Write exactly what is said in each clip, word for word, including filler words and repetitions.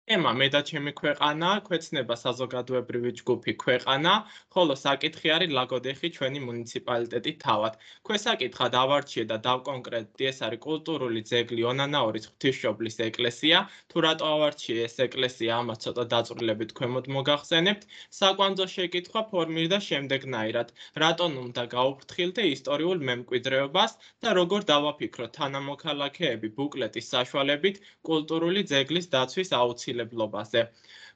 ემა მე და ჩემი ქვეყანა, ქვეცნება საზოგადოებრივი ჯგუფი ქვეყანა, ხოლო საკითხი არის ლაგოდეხი ჩვენი მუნიციპალიტეტი თავად. ქვესაკითხად ავარჩიე და დავკონკრეტდი, ეს არის კულტურული ძეგლი ონანაურის ღვთისმშობლის ეკლესია. თუ რატო ავარჩიე ეს ეკლესია, ამას ცოტა დაწვრილებით ქვემოთ მოგახსენებთ. საკვანძო შეკითხვა ფორმირდა შემდეგნაირად: რატომ უნდა გაუფრთხილდე ისტორიულ მემკვიდრეობას და როგორ დავაფიქროთ თანამოქალაქეები ბუკლეტის საშუალებით კულტურული ძეგლის დაცვის აუცილებლობაზე.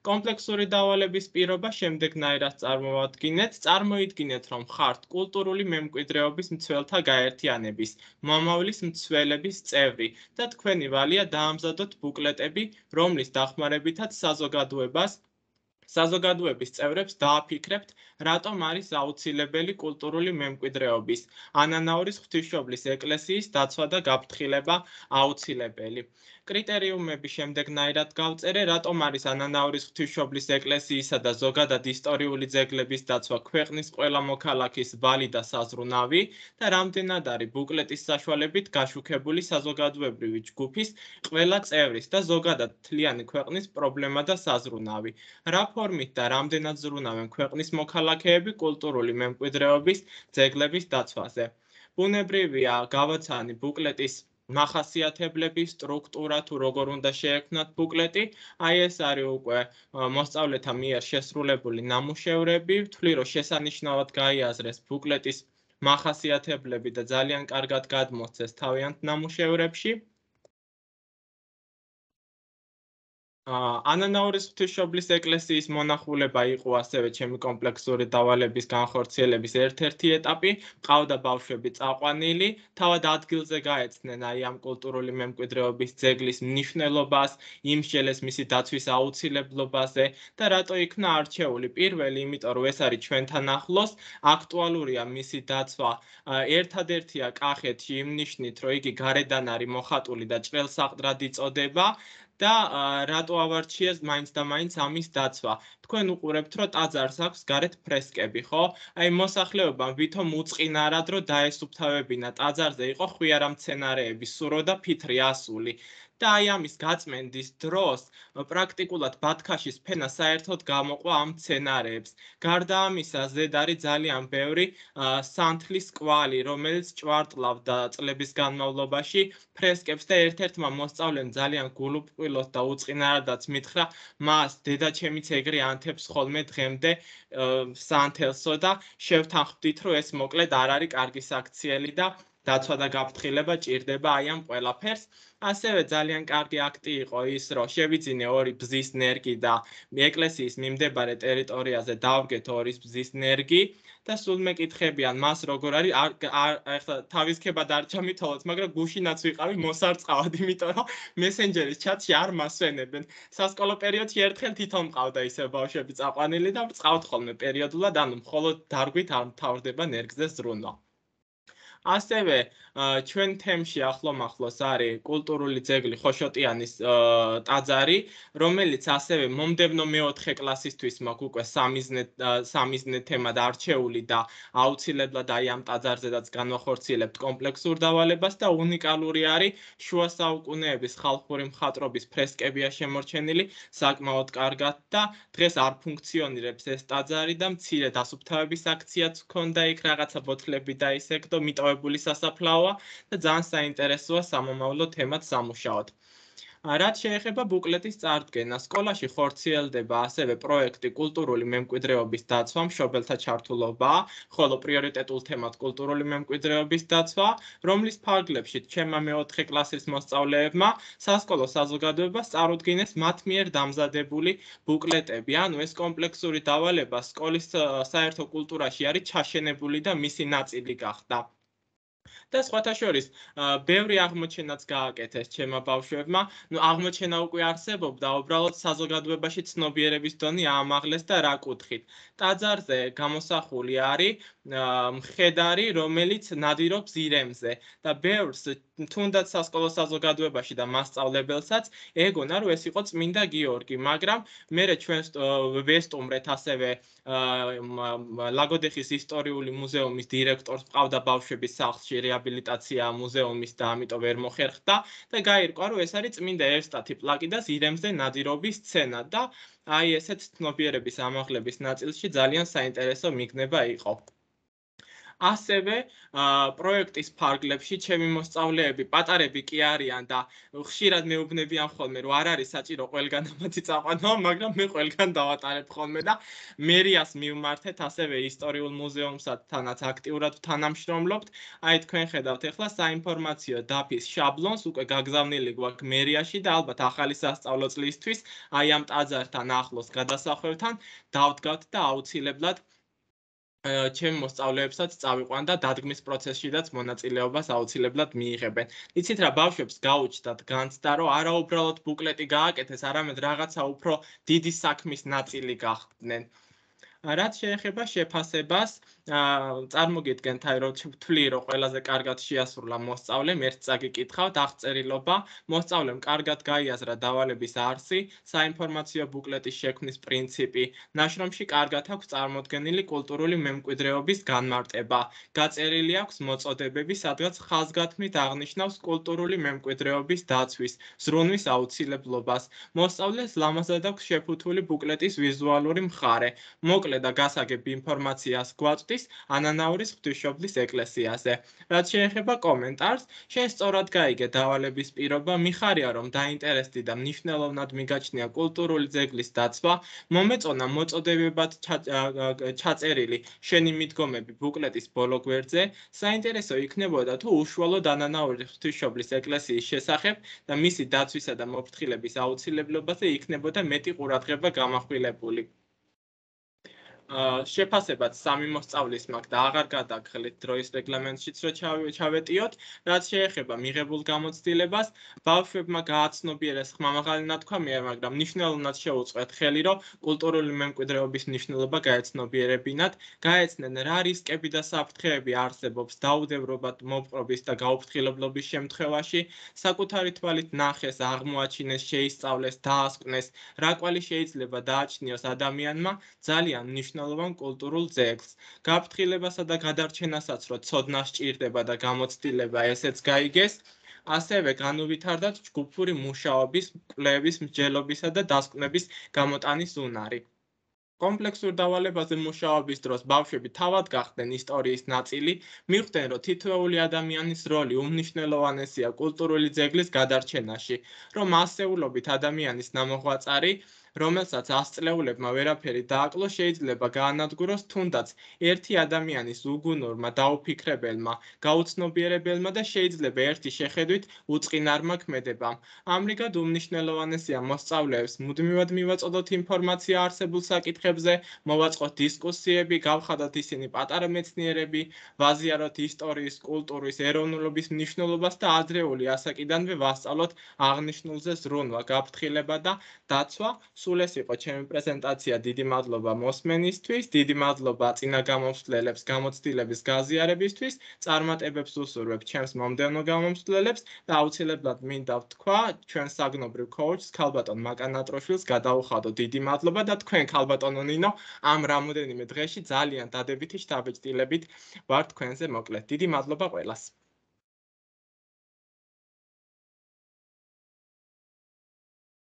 კომპლექსური დავალების პირობა შემდეგნაირად წარმოვადგინეთ. წარმოიდგინეთ, რომ ხართ კულტურული მემკვიდრეობის მცველთა გაერთიანების, მომავლის მცველების წევრი და თქვენი ვალია დაამზადოთ ბუკლეტები, რომლის დახმარებითაც საზოგადოებას საზოგადოების წევრებს დააფიქრებთ, რატომ არის აუცილებელი კულტურული მემკვიდრეობის, ანანაურის ღვთისმშობლის ეკლესიის დაცვა და გაფრთხილება აუცილებელი. კრიტერიუმები შემდეგნაირად გავწერე, რატომ არის ანანაურის ღვთისმშობლის ეკლესიისა და ზოგადად ისტორიული ძეგლების დაცვა ქვეყნის ყველა მოქალაქის ვალი და საზრუნავი და რამდენად არის ბუკლეტის საშუალებით გაშუქებული საზოგადოებრივი ჯგუფის ყველა წევრის და ზოგადად მთლიანი ქვეყნის პრობლემა და საზრუნავი. რა ფორმით და რამდენად ზრუნავენ ქვეყნის მოქალაქეები კულტურული მემკვიდრეობის ძეგლების დაცვაზე. ბუნებრივია, გავაცანი ბუკლეტის მახასიათებლები, სტრუქტურა, თუ როგორ უნდა შეექმნათ ბუკლეტი, აი ეს არის უკვე მოსწავლეთა მიერ შესრულებული ნამუშევრები, ვთვლი, რომ შესანიშნავად გაიაზრეს ბუკლეტის მახასიათებლები და ძალიან კარგად გადმოსცეს თავიანთ ნამუშევრებში. ანანაურის ღვთისმშობლის ეკლესიის მონახულება იყო ასევე ჩემი კომპლექსური დავალების განხორციელების ერთ-ერთი ეტაპი. მყავდა ბავშვები წაყვანილი, თავად ადგილზე გაეცნენ აი ამ კულტურული მემკვიდრეობის ძეგლის მნიშვნელობას, იმსჯელეს მისი დაცვის აუცილებლობაზე და რატო იქნა არჩეული. პირველი, იმიტომ რომ ეს არის ჩვენთან ახლოს, აქტუალურია მისი დაცვა. ერთადერთია კახეთში იმ ნიშნით, რომ იგი გარედან არის მოხატული და ჭრელსაყდრად იწოდება. და რატო ავარჩიეს მაინც და მაინც ამის დაცვა. თქვენ უყურებთ, რომ ტაძარს აქვს გარეთ ფრესკები, ხო? აი მოსახლეობამ ვითომ უწყინარად, რომ დაესუფთავებინა ტაძარზე იყო ხვიარა მცენარეები, სურო და ფითრი ასული. და აი ამის გაწმენდის დროს პრაქტიკულად ბათქაშის ფენა საერთოდ გამოყვა ამ მცენარეებს. გარდა ამისა, ზედ არის ძალიან ბევრი სანთლის კვალი, რომელიც ჭვარტლავდა წლების განმავლობაში ფრესკებს და ერთ-ერთმა მოსწავლემ ძალიან გულუბრყვილოდ და უწყინარადაც მითხრა, მას დედაჩემიც ეგრე ანთებს ხოლმე დღემდე სანთელსო და შევთანხმდით, რომ ეს მოკლედ არ არის კარგი საქციელი და დაცვა და გაფრთხილება ჭირდება აი ამ ყველაფერს. ასევე ძალიან კარგი აქტი იყო ის, რომ შევიძინე ორი ბზის ნერგი და ეკლესიის მიმდებარე ტერიტორიაზე დავდგეთ ორი ბზის ნერგი და სულ მეკითხებიან მას როგორ არის, ახლა თავის ქებად არ ჩამითვალოთ, მაგრამ გუშინაც ვიყავი მოსარწყავად, იმიტომ რომ მესენჯერის ჩატში არ მასვენებენ. სასკოლო პერიოდში ერთხელ თვითონ მყავდა ისე ბავშვები წაყვანილი და ბრწყავთ ხოლმე პერიოდულად, ანუ მხოლოდ დარგვით არ მთავრდება ნერგზე ზრუნვა. ასევე ჩვენ თემში ახლომახლოს არის კულტურული ძეგლი ხოშოტიანის ტაძარი, რომელიც ასევე მომდევნო მეოთხე კლასისთვის მაქვს უკვე სამიზნე თემად არჩეული და აუცილებლად აი ამ ტაძარზედაც განვახორციელებთ კომპლექსურ დავალებას და უნიკალური არის შუა საუკუნეების ხალხური მხატვრობის ფრესკებია შემორჩენილი საკმაოდ კარგად და დღეს არ ფუნქციონირებს ეს ტაძარი და მცირე დასუფთავების აქციაც ჰქონდა იქ რაღაცა ბოთლები და ისე და მიტოვებული სასაფლაოა და ძალიან საინტერესოა სამომავლო თემად სამუშაოდ. რაც შეეხება ბუკლეტის წარდგენას, სკოლაში ხორციელდება ასევე პროექტი კულტურული მემკვიდრეობის დაცვა, მშობელთა ჩართულობაა, ხოლო პრიორიტეტულ თემად კულტურული მემკვიდრეობის დაცვა, რომლის ფარგლებში ჩემმა მეოთხე კლასის მოსწავლეებმა სასკოლო საზოგადოებას წარუდგინეს მათ მიერ დამზადებული ბუკლეტები. ანუ ეს კომპლექსური დავალება სკოლის საერთო კულტურაში არის ჩაშენებული და მისი ნაწილი გახდა. და სხვათა შორის, ბევრი აღმოჩენაც გააკეთეს ჩემმა ბავშვებმა. ნუ აღმოჩენა უკვე არსებობდა, უბრალოდ საზოგადოებაში ცნობიერების დონე აამაღლეს და რა კუთხით. ტაძარზე გამოსახული არის მხედარი, რომელიც ნადირობს ირემზე და ბევრს თუნდაც სასკოლო საზოგადოებაში და მასწავლებელსაც ეგონა რომ ეს იყო წმინდა გიორგი, მაგრამ მერე ჩვენს ვესტუმრეთ ასევე ლაგოდეხის ისტორიული მუზეუმის დირექტორს ყავდა ბავშვების სახლში რეაბილიტაცია მუზეუმის და ამიტომ ვერ მოხერხდა და გაირკვა რომ ეს არის წმინდა ევსტათი პლაკიდას ირემზე ნადირობის სცენა და აი ესეთ ცნობიერების ამაღლების ნაწილში ძალიან საინტერესო მიგნება იყო. ასევე პროექტის ფარგლებში ჩემი მოსწავლეები პატარები კი არიან და ხშირად მეუბნებიან ხოლმე რომ არ არის საჭირო ყველგან ამათი წაყვანა, მაგრამ მე ყველგან დავატარებ ხოლმე და მერიას მივმართეთ ასევე ისტორიულ მუზეუმსათანაც აქტიურად თანამშრომლობთ. აი თქვენ ხედავთ ახლა საინფორმაციო დაფის შაბლონს უკვე გაგზავნილი გვაქვს მერიაში და ალბათ ახალი სასწავლო წლისთვის აი ამ ტაძართან ახლოს გადასახვევთან დავდგავთ და აუცილებლად ჩემ მოსწავლეებსაც წავიყვან და დადგმის პროცესშიდაც მონაწილეობას აუცილებლად მიიღებენ. იცით რა ბავშვებს გაუჩნდათ განცდა რომ არა უბრალოდ ბუკლეტი გააკეთეს, არამედ რაღაცა უფრო დიდი საქმის ნაწილი გახდნენ. რაც შეეხება შეფასებას, წარმოგიდგენთ აი რომ ვთვლი რომ ყველაზე კარგად შეასრულა მოსწავლემ, ერთ წაგიკითხავთ აღწერილობა, მოსწავლემ კარგად გაიაზრა დავალების არსი, საინფორმაციო ბუკლეტის შექმნის პრინციპი, ნაშრომში კარგად აქვს წარმოდგენილი კულტურული მემკვიდრეობის განმარტება, გაწერილი აქვს მოწოდებები, სადღაც ხაზგათმით აღნიშნავს კულტურული მემკვიდრეობის დაცვის, ზრუნვის აუცილებლობას. მოსწავლეს ლამაზად აქვს შეფუთული ბუკლეტის ვიზუალური მხარე. მოკლედ და გასაგებ ინფორმაციას გვაწვდის ანანაურის ღვთისმშობლის ეკლესიაზე. რაც შეეხება კომენტარს, შენ სწორად გაიგე დავალების პირობა, მიხარია რომ დაინტერესდი და მნიშვნელოვნად მიგაჩნია კულტურული ძეგლის დაცვა, მომეწონა მოწოდებებად ჩაწერილი შენი მიდგომები ბუკლეტის ბოლო გვერდზე, საინტერესო იქნებოდა თუ უშუალოდ ანანაურის ღვთისმშობლის ეკლესიის შესახებ და მისი დაცვისა და მოფრთხილების აუცილებლობაზე იქნებოდა მეტი ყურადღება გამახვილებული. შეფასებად სამი მოსწავლის მაქვს და აღარ გადაგხელით დროის რეგლამენტშიც რომ ჩავეტიოთ, რაც შეეხება მიღებულ გამოცდილებას, ბავშვებმა გააცნობიერეს ხმამაღალი ნათქვამია, მაგრამ მნიშვნელოვნად შეუწყვეთ ხელი, რომ კულტურული მემკვიდრეობის მნიშვნელობა გაეცნობიერებინათ, გაეცნენ რა რისკები და საფრთხეები არსებობს დაუდევრობად მოპყრობის და გაუფრთხილებლობის შემთხვევაში, საკუთარი თვალით ნახეს, აღმოაჩინეს, შეისწავლეს, დაასკვნეს, რა კვალი შეიძლება დააჩნიოს ადამიანმა, ძალიან მნიშვნელოვან კულტურულ ძეგლს. გაფრთხილებასა და გადარჩენასაც რო ცოდნა სჭირდება და გამოცდილება ესეც გაიგეს, ასევე განუვითარდათ ჯგუფური მუშაობის, კვლევის, მსჯელობისა და დასკვნების გამოტანის უნარი. კომპლექსურ დავალებაზე მუშაობის დროს ბავშვები თავად გახდნენ ისტორიის ნაწილი, მიხვდნენ რომ თითოეული ადამიანის როლი უმნიშვნელოვანესია კულტურული ძეგლის გადარჩენაში, რომ ასეულობით ადამიანის ნამოღვაწარი რომელსაც ასწლეულებმა ვერაფერი დააკლო, შეიძლება გაანადგუროს თუნდაც ერთი ადამიანის უგუნურმა, დაუფიქრებელმა, გაუცნობიერებელმა და შეიძლება ერთი შეხედვით უწყინარმა ქმედებამ. ამრიგად უმნიშვნელოვანესია მოსწავლეებს მუდმივად მივაწოდოთ ინფორმაცია არსებულ საკითხებზე, მოვაწყოთ დისკუსიები, გავხადოთ ისინი პატარა მეცნიერები, ვაზიაროთ ისტორიის, კულტურის, ეროვნულობის მნიშვნელობას და ადრეული ასაკიდანვე ვასწავლოთ აღნიშნულზე ზრუნვა, გაფრთხილება და დაცვა. სულ ეს იყო ჩემი პრეზენტაცია, დიდი მადლობა მოსმენისთვის, დიდი მადლობა წინა გამომსვლელებს გამოცდილების გაზიარებისთვის, წარმატებებს უსურვებ ჩემს მომდევნო გამომსვლელებს და აუცილებლად მინდა ვთქვა ჩვენს საგნობრივ კოუჩს ქალბატონ მაკან ატროშვილს გადაუხადო დიდი მადლობა და თქვენ ქალბატონო ნინო ამ რამოდენიმე დღეში ძალიან დადებითი შთაბეჭდილებით ვარ თქვენზე მოკლედ. დიდი მადლობა ყველას.